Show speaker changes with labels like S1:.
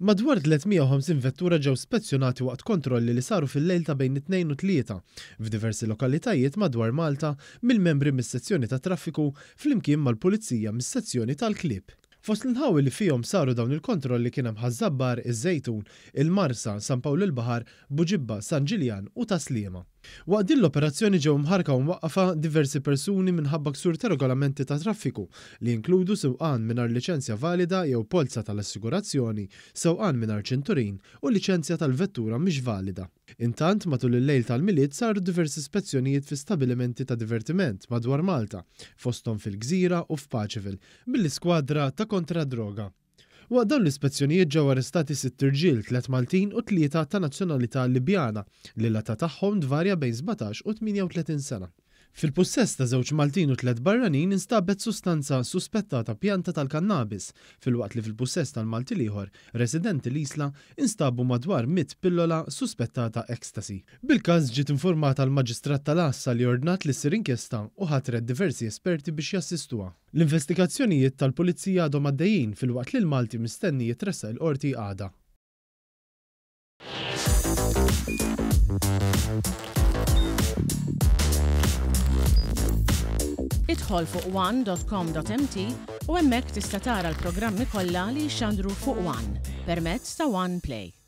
S1: Madwar 350 vettura ġew spezzjonati waqt kontrolli li saru fil-lejl ta' bejn it-Tnejn u t-Tlieta f'diversi lokalitajiet madwar Malta mill-membri mis-Sezzjoni tat-Traffiku flimkien mal-Pulizija mis-Sezzjoni tal-Klieb. Fost l-inħawi li fihom saru dawn il-kontrolli kien hemm Ħaż-Żabbar, iż-Żejtun, il-Marsa, San Pawl il-Baħar, Buġibba, San Ġiljan u Tas-Sliema. Waqt din l-operazzjoni ġew imħarrka u mwaqqfa diversi persuni minħabba ksur ta' regolamenti tat-traffiku li jinkludu sewqan mingħajr liċenzja valida jew polza tal-assigurazzjoni, sewqan mingħajr ċinturin u liċenzja tal-vettura mhix valida. Intant, matul il-lejl tal-Milied saru diversi spezzjonijiet fi stabilimenti ta' divertiment madwar Malta, fosthom fil-Gżira u f'Paceville, mill-Iskwadra ta' Kontra d-Droga. Waqt dawn l-ispezzjonijiet ġew arrestati sitt irġiel, tlett Maltin u tlieta ta' nazzjonalità Libjana, li l-età tagħhom tvarja bejn 17 u 38 sena. Fil-pussess ta' żewġ Maltin u tlett barranin instabet sustanza suspettata pjanta tal-kannabis, filwaqt li fil-pussess tal-Malti l-ieħor, residenti l-Isla, instabu madwar mitt pillola suspettata ecstasy. Bil-każ ġiet infurmata l-Maġistrat tal-Għassa li ordnat li ssir inkjesta u ħatret diversi esperti biex jassistuha. L-investigazzjonijiet tal-Pulizija għadhom għaddejjin filwaqt li l-Malti mistenni jitressaq il-Qorti għada.
S2: Idħol fuq one.com.mt u hemmhekk tista' tara l-programmi kollha li jixxandru fuq One permezz ta' One Play.